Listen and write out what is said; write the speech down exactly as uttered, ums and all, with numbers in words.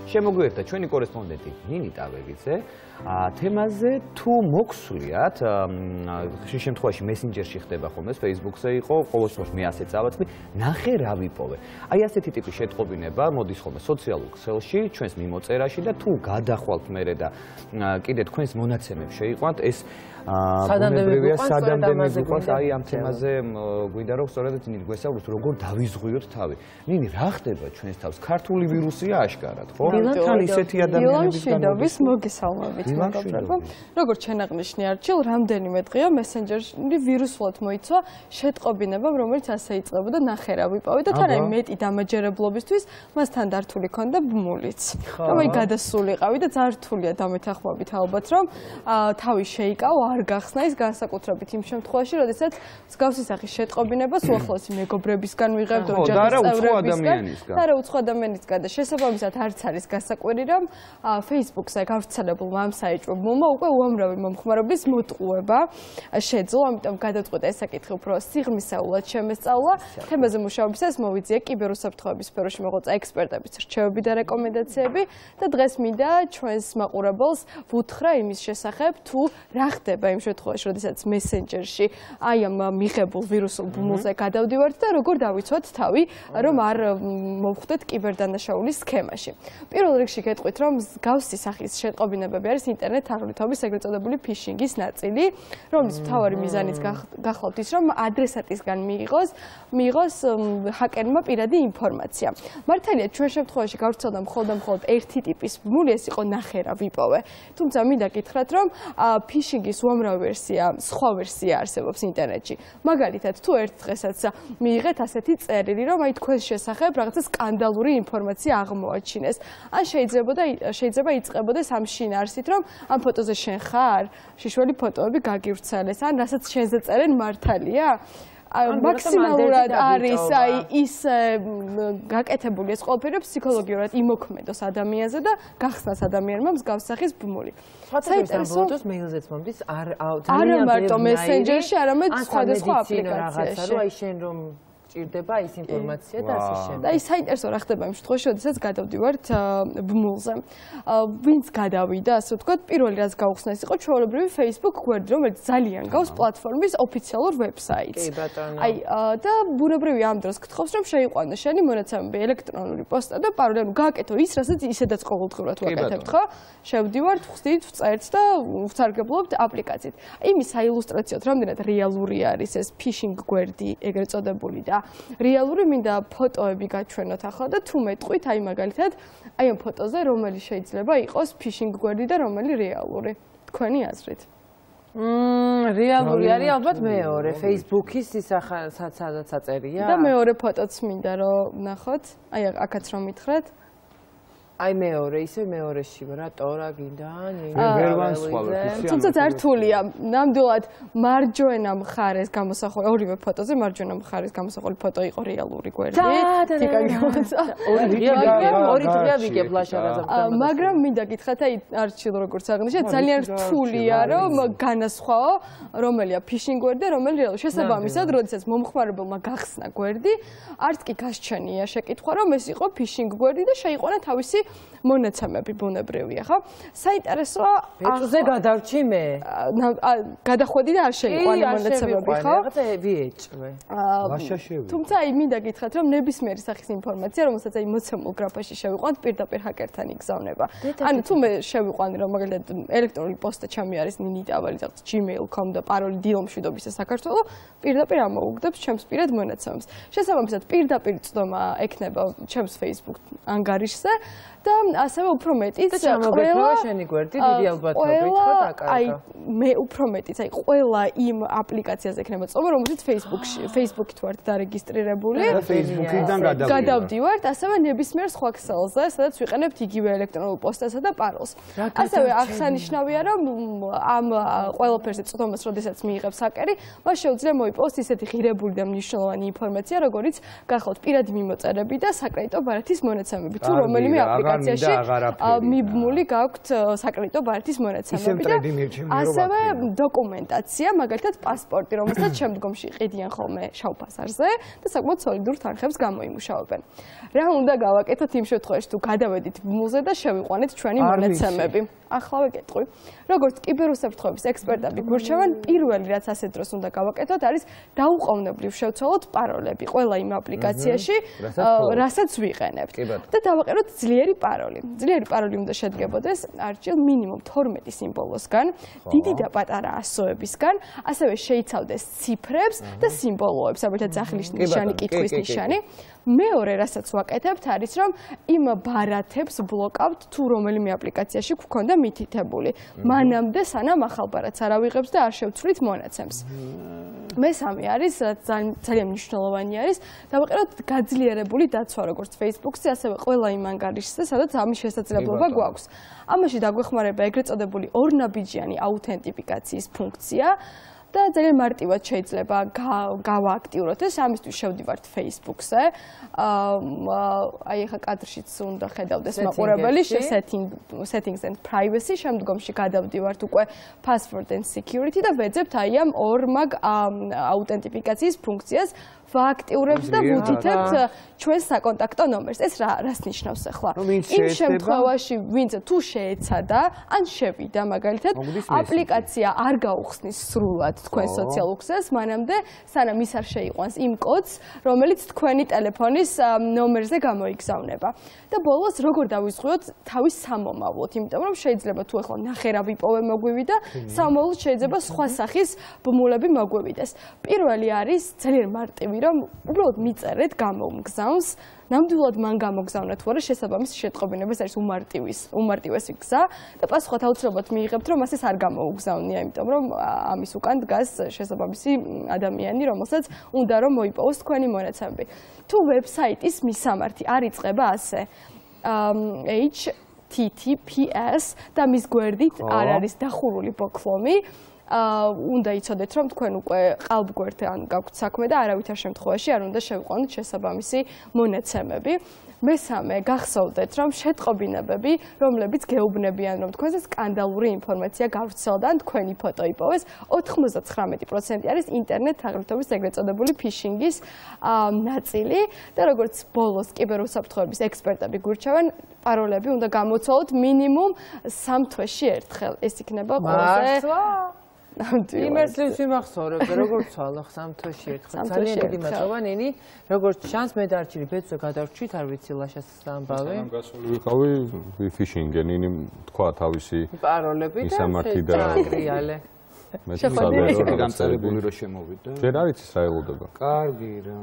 შემოგვიერთდა ჩვენი კორესპონდენტი ნინი ტავებიძე თემაზე თუ მოგვსვლიათ ხშირ შემთხვევაში მესენჯერში ხდება ხოლმე Facebook-ზე იყო ყოველ შემთხვევაში მე ასე წავაწყდი ნახე რა ვიპოვე აი ასეთი ტიპის შეტყობინება მოდის ხოლმე სოციალურ ქსელში ჩვენს მიმოწერაში და თუ გადახვალთ მერე და კიდე თქვენს მონაცემებს შეიყვანთ ეს ბუნებრივია სადამდე მიგვიყვანს აი ამ თემაზე გვინდა რომ სწორედ ნინი გვესაუბროთ როგორ დავიზღვიოთ თავი ნინი რა ხდება ჩვენს თავს ქართული ვირუსია აშკარად ხო თან ისეთი ადამიანების გამოდების მოგესალმებით მეგობრებო როგორც ჩვენ აღნიშნე არჩილ რამდენიმე დღეა მესენჯერში ვირუსულად მოიცვა შეტყობინებამ რომელიც ასე იწყებოდა ნახე რა ვიპოვე და თან აი მეტი დამაჯერებლობისთვის მას თან დართული ქონდა ბმულიც რომ აი გადასულიყავი და ძალიან რთულია დამეთანხმებით ალბათ რომ თავი შეიკავო არ გახსნა ის განსაკუთრებით იმ შემთხვევაში, როდესაც მსგავსი სახის შეტყობინებას უახლოესი მეგობრებისგან ვიღებთ, ოჯახის წევრებისგან და რა უცხო ადამიანისგან და შესაბამისად არც არის გასაკვირი, რომ Facebook-ზე გავრცელებულმა ამ საეჭვობლმა უკვე უამრავი მომხმარებლის მოტყუება შეძლო, ამიტომ გადაწყვეტა ეს საკითხი უფრო სიღრმისეულად შემესწავლა. თემაზე მუშაობისას მოვიძიე კიბერუსაფრთხოების სფეროში მოღვაწე ექსპერტების რჩევები და რეკომენდაციები და დღეს მინდა ჩვენს მაყურებელს ვუთხრა იმის შესახებ, თუ რა ხდება იმ შემთხვევაში, როდესაც მესენჯერში აი ამ მიღებულ ვირუსულ ბმულზე გადავდივართ და როგორ დავიცვათ თავი, რომ არ მოვხვდეთ კიბერდანაშაულის სქემაში. პირველ რიგში გეტყვით, რომ მსგავსი სახის შეტყობინებები არის ინტერნეტ თაღლითობის ეგრეთ წოდებული ფიშინგის ნაწილი, რომლის მთავარი მიზანიც გახლავთ ის, რომ ადრესატისგან მიიღოს მიიღოს ჰაკერმა პირადი ინფორმაცია. მართალია ჩვენ შემთხვევაში გავრცელდა მხოლოდ და მხოლოდ ერთი ტიპის ბმული, ეს იყო ნახე რა ვიპოვე. თუმცა მინდა გითხრათ, რომ ფიშინგის უამრავი ვერსია, სხვა ვერსია არსებობს ინტერნეტში. მაგალითად, თუ ერთ დღესაც მიიღეთ ასეთი წერილი, რომ აი თქვენს შესახებ რაღაცა სკანდალური ინფორმაცია აღმოაჩინეს. ან შეიძლება და შეიძლება იწყებოდეს ამ შინაარსით, რომ ამ ფოტოზე შენ ხარ, შიშველი ფოტოები გაგივრცელეს, ან რასაც შენზე წერენ მართალია? მაქსიმალურად არის აი ის გაკეთებული ეს ყველაფერი ფსიქოლოგიურად იმოქმედოს ადამიანზე და გახსნას ადამიანმა მსგავს სახის ბმული. საინტერესოა მეილზეც მომდის არ ძალიან მარტო მესენჯერში, არამედ სხვადასხვა აპლიკაციაში. აი შენ რომ ჭირდება ის ინფორმაცია და ასე შემდეგ. და ის საინტერესო რა ხდება იმ შემთხვევაში, როდესაც გადავდივართ ბმულზე. ვინც გადავიდა, ასე ვთქვათ, პირველი რაც გავხსნა ის იყო ჩვეულებრივი Facebook გვერდი, რომელიც ძალიან გავს პლატფორმის ოფიციალურ ვებსაიტს. კი ბატონო. აი და ბუნებრივია ამ დროს გთხოვს, რომ შეიყვანო შენი მონაცემები, ელექტრონული პოსტა და პაროლი, ანუ გააკეთო ის, რასაც ისედაც ყოველდღიურად ვაკეთებთ, ხო? შევდივართ, ვხდით, ვწერთ და ვსარგებლობთ აპლიკაციით. იმის საილუსტრაციოდ, რამდენად რეალური არის ეს phishing გვერდი, ეგრეთ წოდებული და რეალური მინდა ფოტოები გაჩვენოთ ახლა და თუ მეტყვით აი მაგალითად აი ამ ფოტოზე რომელი შეიძლება იყოს phishing გვერდი და რომელი რეალური თქვენი აზრით მმ რეალური არის ალბათ მეორე Facebook-ის ის სადაც აწერია და მეორე ფოტოც მინდა რომ ნახოთ აი აქაც რომ მითხრათ აი მეორე ისე მეორეში რატო რა გინდა ვერ ვანსხვალებ თუმცა ძართულია ნამდვილად მარჯვენა მხარეს გამოსახული ორივე ფოტოზე მარჯვენა მხარეს გამოსახული ფოტო იყო რეალური გვერდი თიკა გიოცა ორი დღეა ვიგებ ლაშარაზე მაგრამ მინდა გითხრათ აი არჩილ როგორც აღნიშნეთ ძალიან რთულია რომ განასხვაო რომელია phishing გვერდი და რომელი რეალური შესაბამისად როდესაც მომხმარებელმა გახსნა გვერდი არც კი გასჩენია შეკითხვა რომ ეს იყო phishing გვერდი და შეიყვანა თავისი მონაცემები ბუნებრივია, ხო? საინტერესოა ბეჭზე გადავრჩი მე. გადახვედი და არ შეიყვანე მონაცემები, ხო? რაღაცა ვიეჭვე. თუმცა აი მინდა გითხრათ, რომ ნებისმიერი სახის ინფორმაცია, რომელსაც აი მოცემულ გრაფაში შევიყვანთ, პირდაპირ ჰაკერთან იგზავნება. ანუ თუ მე შევიყვანი, რომ მაგალითად ელექტრონული პოსტა ჩემი არის ninitavali რაღაც gmail dot com და პაროლი დილომშვიდობისა საქართველო, პირდაპირ ამოუგდებს ჩემს პირად მონაცემებს. შესაბამისად, პირდაპირ წვდომა ექნება ჩემს Facebook ანგარიშზე და ასევე უფრო მეტიც ყველა შენი გვერდი დიდი ალბათობით ხო დაკარგა. აი მე უფრო მეტიც აი ყველა იმ აპლიკაციაზე ექნება წვდომა, რომელშიც Facebook-ში Facebook-ით ვართ დარეგისტრირებული. და Facebook-იდან გადავდივართ, ასევე ნებისმიერ სხვა ქსელზე, სადაც ვიყენებთ იგივე ელექტრონულ პოსტასა და პაროლს. ასევე აღსანიშნავია, რომ ამ ყველაფერზე წვდომას, როდესაც მიიღებს ჰაკერი, მას შეუძლია მოიპოვოს ისეთი ღირებული და მნიშვნელოვანი ინფორმაცია, როგორიც გახლავთ პირადი მიმოწერები და საკრედიტო ბარათის მონაცემები, თუ რომელიმე აპლიკაცია აპლიკაციაში მიბმული გაქვთ საკრედიტო ბარათის მონაცემები და ასევე დოკუმენტაცია, მაგალითად პასპორტი, რომელსაც შემდგომში ყიდიან ხოლმე შავ ფასარზე და საკმაოდ სოლიდურ თანხებს გამოიმუშავებენ. რა უნდა გავაკეთოთ იმ შემთხვევაში, თუ გადავედით ბმულზე და შევიყვანეთ ჩვენი მონაცემები? ახლა ვეკეთყვი. როგორც კიბერუსაფრთხოების ექსპერტები გურჩევენ, პირველი რაც ასე დროს უნდა გავაკეთოთ, არის დაუყოვნებლივ შევცვალოთ პაროლები ყველა იმ აპლიკაციაში, რასაც ვიყენებთ. და დავაყენოთ ძლიერი პაროლი. ძლიერი პაროლი უნდა შედგებოდეს არჩილ მინიმუმ თორმეტი სიმბოლოსგან, დიდი და პატარა ასოებისგან, ასევე შეიცავდეს ციფრებს და სიმბოლოებს, საბერთად სახლის ნიშანი, კითხვის ნიშანი. მეორე, რასაც ვაკეთებთ, არის რომ იმ ბარათებს ბლოკავთ თუ რომელიმე აპლიკაციაში გქონდა მითითებული. მანამდე სანამ ახალ ბარათს არ ავიღებს და არ შევცვლით მონაცემს. მესამე არის, რაც ძალიან მნიშვნელოვანი არის, დავაყენოთ გაძლიერებული დაცვა, როგორც Facebook-ზე, ასევე ყველა იმ ანგარიშზე, სადაც ამის შესაძლებლობა გვაქვს. ამაში დაგვეხმარება ეგრეთ წოდებული ორნაბიჯიანი აუთენტიფიკაციის ფუნქცია. და ძალიან მარტივად შეიძლება გავააქტიუროთ ეს, ამისთვის შევდივართ Facebook-ზე. აი ახლა კადრშიც უნდა ხედავდეს მაყურებელი, settings and privacy, შემდგომში გადავდივართ უკვე password and security და ვეძებთ აი ამ ორმაგ აუთენტიფიკაციის ფუნქციას. ვააქტიურებთ და ვუთითებთ ჩვენს საკონტაქტო ნომერს. ეს რა რას ნიშნავს ახლა? იმ შემთხვევაში, ვინც თუ შეეცადა, ან შევიდა მაგალითად, აპლიკაცია არ გაუხსნის სრულად თქვენ სოციალურ ქსელს, მანამდე სანამ ის არ შეიყვანს იმ კოდს, რომელიც თქვენი ტელეფონის ნომერზე გამოიგზავნება. და ბოლოს როგორ დავიზღვიოთ თავის სამომავლოდ, იმიტომ რომ შეიძლება თუ ახლა ნახერავი პოვე მოგვივიდა, სამომავლოდ შეიძლება სხვა სახის ბმულები მოგვივიდეს. პირველი არის ძალიან მარტივი, რომ უბრალოდ მიწერეთ გამომგზავნს, ნამდვილად მან გამოგზავნა თუ არა შესაბამის შეტყობინებას არის უმარტივის, უმარტივესი გზა და პასუხად აუცილებლად მიიღებთ, რომ მას ეს არ გამოუგზავნია, იმიტომ რომ ამის უკან დგას შესაბამისი ადამიანი, რომელსაც უნდა რომ მოიპოვოს თქვენი მონაცემები. თუ ვებსაიტის მისამართი არ იწყება ასე H T T P S და მის გვერდით არ არის დახურული ბოქლომი, უნდა იცოდეთ, რომ თქვენ უკვე ყალბგვერდთან გაქვთ საქმე და არავითარ შემთხვევაში არ უნდა შევიყვანოთ შესაბამისი მონაცემები. მესამე, გახსოვდეთ, რომ შეტყობინებები, რომლებიც გეუბნებიან, რომ თქვენზე სკანდალური ინფორმაცია გავრცელდა ან თქვენი ფოტო იპოვეს, ოთხმოცდათხრამეტი პროცენტი არის ინტერნეტ თაღლითობის ეგრეთ წოდებული ფიშინგის ნაწილი და როგორც ბოლოს კიბერუსაფრთხოების ექსპერტები გურჩევენ, პაროლები უნდა გამოცვალოთ მინიმუმ სამ თვეში ერთხელ. ეს იქნება ყველაზე იმას ვიმახსოვრებ, როგორც ცვალო სამ თვეში ერთხელ. ძალიან დიდი მადლობა ნინი. როგორც ჩანს, მე დარჩილი ბეწვე გადავრჩით, არ ვიცი ლაშას ამბავი. სანამ გასული ვიყავი ვიფიშინგე, ნინი თქვა თავისი პაროლები და შეტრიალე. მე შეხვედრით გამწარებული რომ შემოვიდა. ჯერ არ იცის რა ელოდება. კარგი რა.